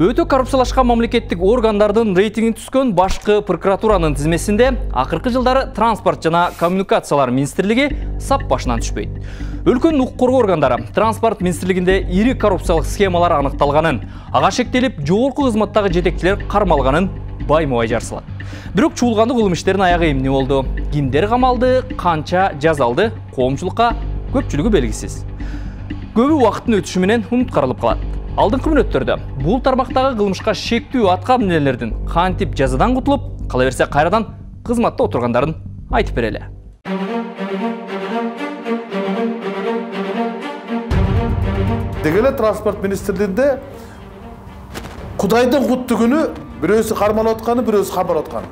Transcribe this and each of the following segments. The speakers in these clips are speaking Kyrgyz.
Өтө коррупциялашкан мамлекеттик органдардын рейтинги түскөн башкы прокуратуранын тизмесинде акыркы жылдары транспорт жана коммуникациялар министрлиги сап башынан түшпөйт. Өлкөнүн укук коргоо органдары транспорт министрлигинде ири коррупциялык схемалар аныкталганын, ага шектелип жогорку кызматтагы жетекчилер кармалганын байма-бай жарсылат. Бирок чуулгандуу кылмыш иштеринин аягы эмне болду? Кимдер камалды, канча жаза алды? Коомчулукка көпчүлүгү белгисиз. Көбү убакыттын өтүшү менен унуткарылып калат. Алдыңкы мүнөттөрдө бул тармактагы кылмышка шектүү аткаминелердин кантип жазадан кутулуп, кала берсе кайрадан кызматта отургандарын айтып берели. Дегеле транспорт министрлигинде Кудайдын куттуу күнү бирөөсү кармалып атканы, бирөөсү камалып атканы.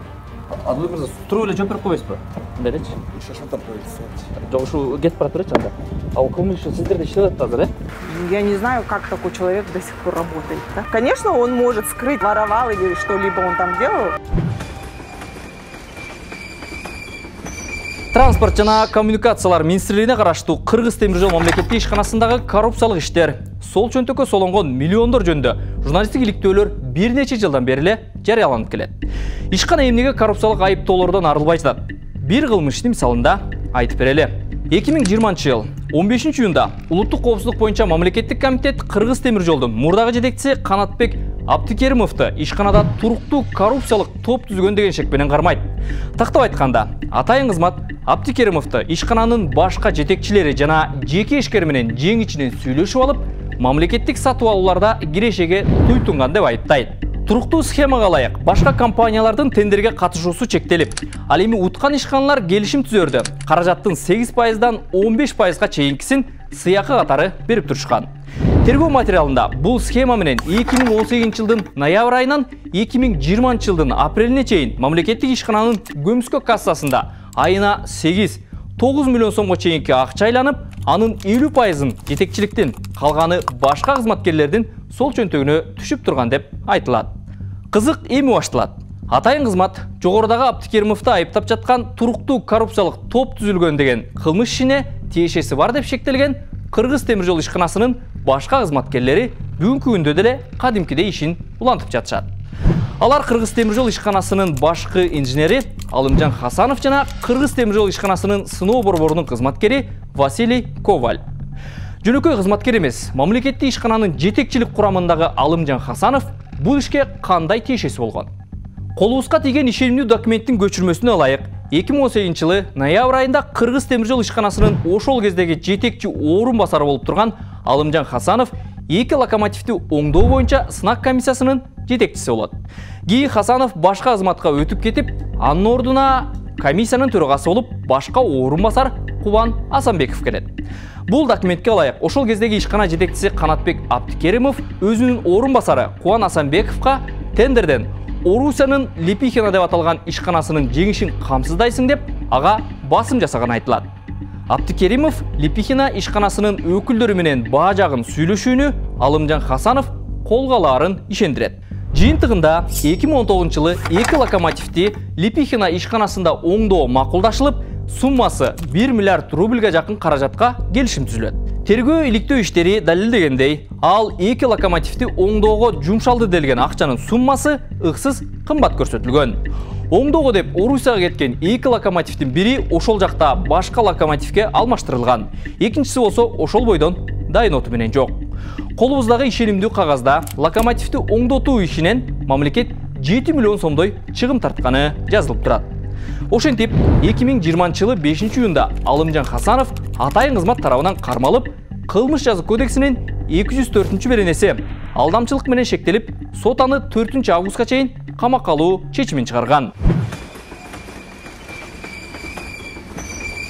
Адыл мырза, туруп эле жооп берип койбойсузбу? Мындайчы? Шашылтып коюлат. Жок, ушу кетип барат беречи анда. Ал кылмыш сиздерде иштеп атат азыр, Я не знаю, как такой человек до сих пор работает. Да? Конечно, он может скрыть, воровал или что-либо он там делал. Транспорт жана коммуникациялар министрлигине караштуу Кыргыз темир жол мамлекеттик ишканасындагы коррупциялык иштер, сол чөнтөккө солонгон миллиондор жөнүндө журналисттик иликтөөлөр бир нече жылдан бери эле жарыяланып келет. Ишкана эмнеге коррупциялык айыптоолордон арылбай жатат? Бир кылмыштын мисалында айтып берели. 2020 жыл 15-июнда улуттук коопсуздук боюнча мамлекеттик комитет Кыргыз темир жолдун мурдагы жетекчиси Канатбек Абдикеримовду ишканада туруктуу коррупциялык топ түзгөн деген шек менен кармайт. Тактап айтканда, атайын кызмат Абдикеримовду ишкананын башка жетекчилери жана жеке ишкер менен жең ичинен сүйлөшүп алып, мамлекеттик сатып алууларда кирешеге туйтунган деп айыптайт. Туруктуу схемага ылайык башка компаниялардын тендерге катышуусу чектелип, ал эми уткан ишканалар келишим түзөрдө каражаттын 8%дан 15%га чейинкисин сыйакы катары берип турушкан. Тергөө материалында бул схема менен 2018 жылдын ноябрь айынан 2020 жылдын апрелине чейин мамлекеттик ишкананын көмүскө кассасында айына 8-9 миллион сомго чейинки акча айланып, анын 50%ын жетекчиликтин, калганы башка кызматкерлердин сол чөнтөгүнө түшүп турган деп айтылат. Кызык эми башталат. Атайын кызмат жогорудагы Абдикеримовду айыптап жаткан туруктуу коррупциялык топ түзүлгөн деген кылмыш ишине тиешеси бар деп шектелген Кыргыз темир жол ишканасынын башка кызматкерлери бүгүнкү күндө деле кадимкидей ишин улантып жатышат. Алар Кыргыз темир жол ишканасынын башкы инженери Алымжан Хасанов жана Кыргыз темир жол ишканасынын сыноо борборунун кызматкери Василий Коваль. Жөнөкөй кызматкер эмес, мамлекеттик ишкананын жетекчилик курамындагы Алымжан Хасанов бул ишке кандай тиешеси болгон? Колубузга тийген ишенимдүү документтин көчүрмөсүнө ылайык 2018 жылы ноябрь айында Кыргыз темир жол ишканасынын ошол кездеги жетекчи орун басары болуп турган Алымжан Хасанов 2 локомотивди оңдоо боюнча сынак комиссиясынын жетекчиси болот. Кийин Хасанов башка кызматка өтүп кетип, анын ордуна комиссиянын төрагасы болуп башка орун басар Кубан Асанбеков келет. Бул документке ылайык ошол кездеги ишкана жетекчиси Канатбек Абдикеримов өзүнүн орун басары Кубан Асанбековго тендерден Орусиянын Липихина деп аталган ишканасынын жеңишин камсыздайсың деп ага басым жасаган айтылат. Абдикеримов Липихина ишканасынын өкүлдөрү менен баа жагын сүйлөшүүнү Алымжан Хасанов колго алаарын ишендирет. Жыйынтыгында 2019 жылы 2 локомотивди Липихина ишканасында оңдоо макулдашылып, суммасы 1 миллиард рубльга жакын каражатка келишим түзүлөт. Тергөө иликтөө иштери далилдегендей, ал 2 локомотивди оңдоого жумшалды делген акчанын суммасы ыксыз кымбат көрсөтүлгөн. Оңдоого деп Орусияга кеткен 2 локомотивдин бири ошол жакта башка локомотивге алмаштырылган. Экинчиси болсо ошол бойдон дайын оту менен жок. Колубуздагы ишенимдүү кагазда локомотивди оңдотуу ишинен мамлекет 7 миллион сомдой чыгым тартканы жазылып турат. Ошентип, 2020 жылы 5-июнда Алымжан Хасанов атайын кызмат тарабынан кармалып, кылмыш жазык кодексинин 204-беренеси алдамчылык менен шектелип, сот аны 4-августка чейин камакка алуу чечимин чыгарган.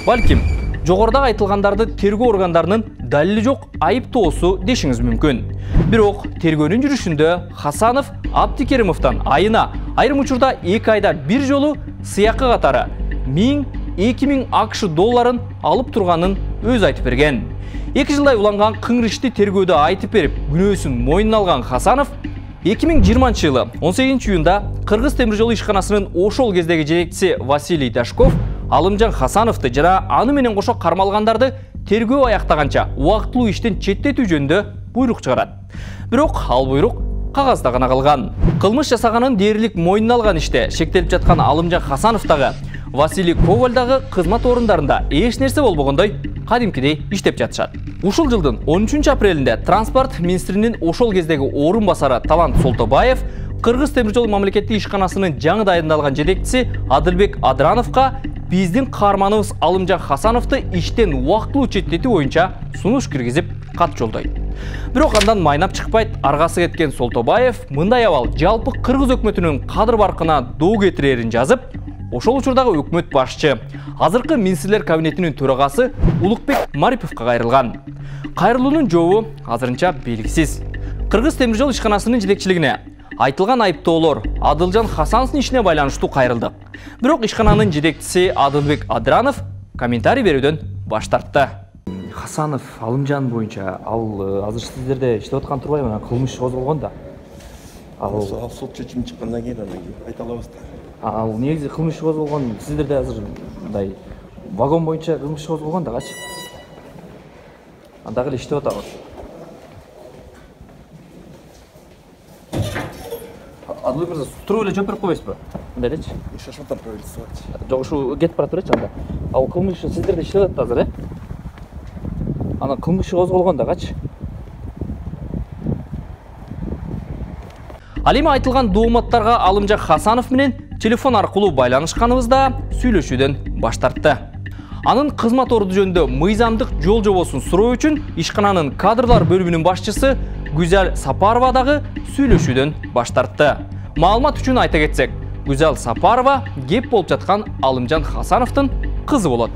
Балким, жогорудагы айтылгандарды тергөө органдарынын далили жок айыптоосу дешиңиз мүмкүн. Бирок тергөөнүн жүрүшүндө Хасанов Абдикеримовдон айына, айрым учурда 2 айда бир жолу сыйакы катары 1000-2000 АКШ долларын алып турганын өзү айтып берген. 2 жылдай уланган кыңыр ишти тергөөдө айтып берип, күнөөсүн мойнуна алган Хасанов 2020 жылы 18-июнда Кыргыз темир жол ишканасынын ошол кездеги жетекчиси Василий Дашков Алымжан Хасановду жана аны менен кошо кармалгандарды тергөө аяктаганча убактылуу иштен четтетүү жөнүндө буйрук чыгарат. Бирок ал буйрук кагазда гана калган. Кылмыш жасаганын дээрлик мойнуна алган иште шектелип жаткан Алымжан Хасанов дагы, Василий Коваль дагы кызмат орундарында эч нерсе болбогондой кадимкидей иштеп жатышат. Ушул жылдын 13 апрелинде транспорт министринин ошол кездеги орун басары Талант Солтобаев Кыргыз темир жол мамлекеттик ишканасынын жаңы дайындалган жетекчиси Адылбек Адрановго биздин каарманыбыз Алымжан Хасановду иштен убактылуу четтетүү боюнча сунуш киргизип кат жолдойт. Бирок андан майнап чыкпайт. Аргасы кеткен Солтобаев мындай абал жалпы Кыргыз өкмөтүнүн кадыр баркына доо кетирерин жазып, ошол учурдагы өкмөт башчы, азыркы министрлер кабинетинин төрагасы Улукбек Мариповго кайрылган. Кайрылуунун жообу азырынча белгисиз. Кыргыз темир жол ишканасынын жетекчилигине айтылган айыптоолор Адылжан Хасановдун ишине байланыштуу кайрылды. Бирок ишкананын жетекчиси Адылбек Адранов комментарий берүүдөн баш тартты. Хасанов Алымжан боюнча ал азыр сиздерде иштеп аткан турбайбы? Анан кылмыш козголгон да. Ал сот чечими чыккандан кийин айта алабыз да. Ал негизи кылмыш козголгон, сиздерде азыр мындай вагон боюнча кылмыш козголгон дагычы. Андагы эле иштеп атабыз. Адылбек мырза, туруп эле жооп берип койбойсузбу? Мындай элечи. Шашматан правительство. Жок, ушу кетип бара турачы анда. Ал кылмыш сиздерде иштеп атат азыр, Анан кылмыш козголгон дагычы. Ал эми айтылган дооматтарга Алымжан Хасанов менен телефон аркылуу байланышканыбызда сүйлөшүүдөн баш тартты. Анын кызмат орду жөнүндө мыйзамдык жол жобосун суроо үчүн ишкананын кадрлар бөлүмүнүн башчысы Гүзал Сапарова дагы сүйлөшүүдөн баш тартты. Маалымат үчүн айта кетсек, Гүзал Сапарова кеп болуп жаткан Алымжан Хасановдун кызы болот.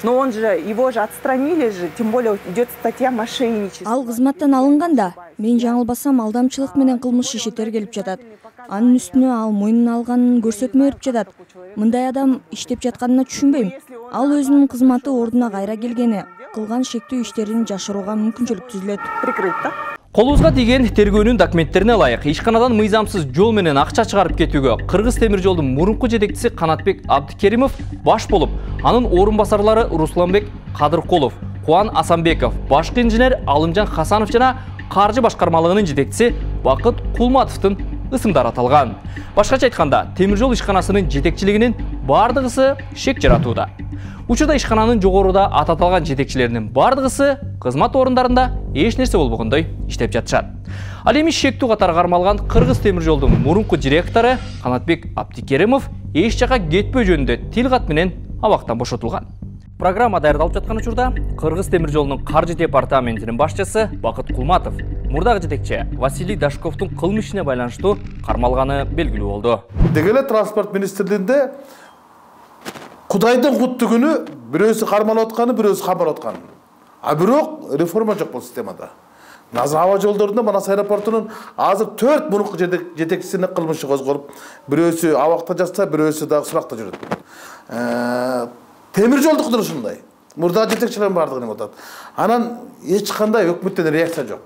Но он же, его же отстранили же, тем более идет статья мошенничества. Ал кызматтан алынганда, мен жаңылбасам алдамчылык менен кылмыш иши тергелип жатат. Анын үстүнө ал мойнуна алганын көрсөтмө берип жатат. Мындай адам иштеп жатканына түшүнбөйм. Ал өзүнүн кызматы ордуна кайра келгени, кылган шектүү иштерин жашырууга мүмкүнчүлүк түзүлөт. Прикрыть, да? Колубузга тийген тергөөнүн документтерине ылайык, ишканадан мыйзамсыз жол менен акча чыгарып кетүүгө Кыргыз темир жолдун мурунку жетекчиси Канатбек Абдикеримов баш болуп, анын орун басарлары Русланбек Кадыркулов, Кубан Асанбеков, башкы инженер Алымжан Хасанов жана каржы башкармалыгынын жетекчиси Бакыт Кулматовдун ысымдары аталган. Башкача айтканда, темир жол ишканасынын жетекчилигинин бардыгысы шек жаратууда. Учурда ишкананын жогоруда аталган жетекчилеринин бардыгысы кызмат орундарында эч нерсе болбогондой иштеп жатышат. Ал эми шектүү катары кармалган Кыргыз темир жолдун мурунку директору Канатбек Абдикеримов эч жака кетпөө жөнүндө тил кат менен абактан бошотулган. Программа даярдалып жаткан учурда Кыргыз темир жолунун каржы департаментинин башчысы Бакыт Кулматов мурдагы жетекчи Василий Дашковдун кылмыш ишине байланыштуу кармалганы белгилүү болду. Деги эле транспорт министрлигинде Кудайдын куттугүнү бирөөсү кармалып атканы, бирөөсү камалып атканы. А бирок реформа жок бул системада. Азыр аба жолдорунда Манас аэропортунун азыр 4 мурунку жетекчисине кылмышы козголуп, бирөөсү абакта жатса, бирөөсү дагы суракта жүрөт. Темир жолдук да ушундай. Мурда жетекчилердин бардыгы неме атат. Анан эч кандай өкмөттөн реакция жок.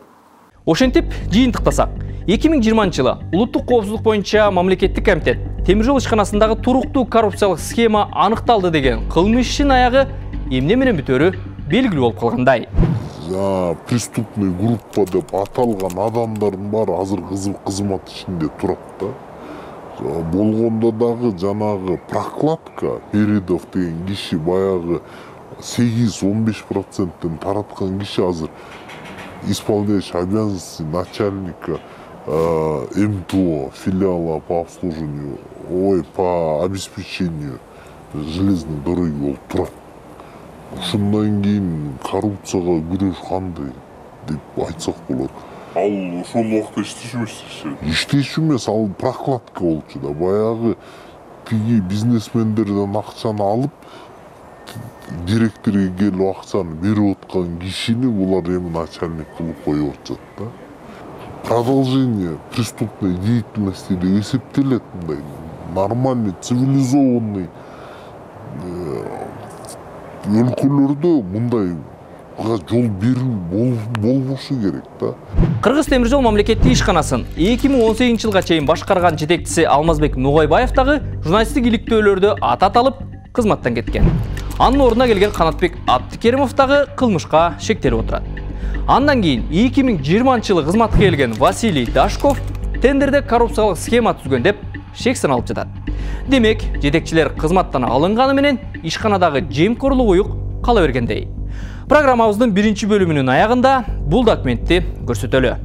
Ошентип жыйынтыктасак, 2020 жылы улуттук коопсуздук боюнча мамлекеттик комитет темир жол ишканасындагы туруктуу коррупциялык схема аныкталды деген кылмыш ишин аягы эмне менен бүтөөрү белгилүү болуп калгандай. Преступный группа деп аталган адамдардын баары азыр кызмат ишинде турат да. Болгондо дагы жанагы прокладка Передов деген киши баягы 8-15%тен тараткан киши азыр исполняющий обязанности начальника МТО филиала по обслуживанию, по обеспечению железной дороги болуп турат. Ушундан кийин коррупцияга күрөш кандай деп айтсак болот. Ал ошол убакта иштеши эмес. Иштеши эмес, ал прокладка болчу да. Баягы тиги бизнесмендерден акчаны алып, директорго келип акчаны берип аткан кишини булар эми начальник кылып коюп атышат да. Продолжение преступной деятельности деп эсептелет мындай. Нормальный, цивилизованный өлкөлөрдө мындай жол берүү болбошу керек да. Кыргыз темир жол мамлекеттик ишканасын 2018 жылга чейин башкарган жетекчиси Алмазбек Нугайбаев дагы журналисттик иликтөөлөрдө атат алып кызматтан кеткен. Анын ордуна келген Канатбек Абдикеримов дагы кылмышка шектелип отурат. Андан кийин 2020 жылы кызматка келген Василий Дашков тендерде коррупциялык схема түзгөн деп шек саналып жатат. Демек, жетекчилер кызматтан алынганы менен ишканадагы жемкорлук уюк кала бергендей. Программабыздын 1-бөлүмүнүн аягында бул документти көрсөтөлү.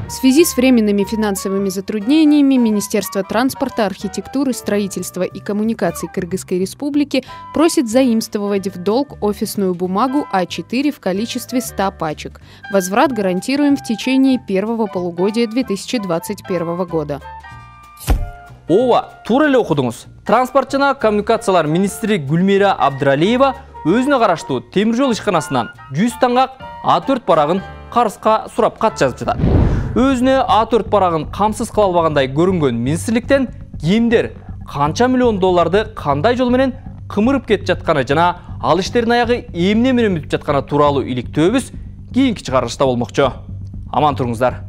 В связи с временными финансовыми затруднениями Министерство транспорта, архитектуры, строительства и коммуникаций Кыргызской Республики просит заимствовать в долг офисную бумагу А4 в количестве 100 пачек. Возврат гарантируем в течение первого полугодия 2021 года. Ооба, туура эле окудуңуз. Транспорт жана коммуникациялар министри Гүлмира Абдралиева өзүнө караштуу темир жол ишканасынан 100 таңгак А4 барагын карызга сурап кат жазып жатат. Өзүнө А4 барагын камсыз кыла албагандай көрүнгөн министрликтен кимдер канча миллион долларды кандай жол менен кымырып кетип жатканы жана ал иштердин аягы эмне менен бүтүп жатканы тууралуу иликтөөбүз кийинки чыгарылышта болмокчу. Аман туруңуздар.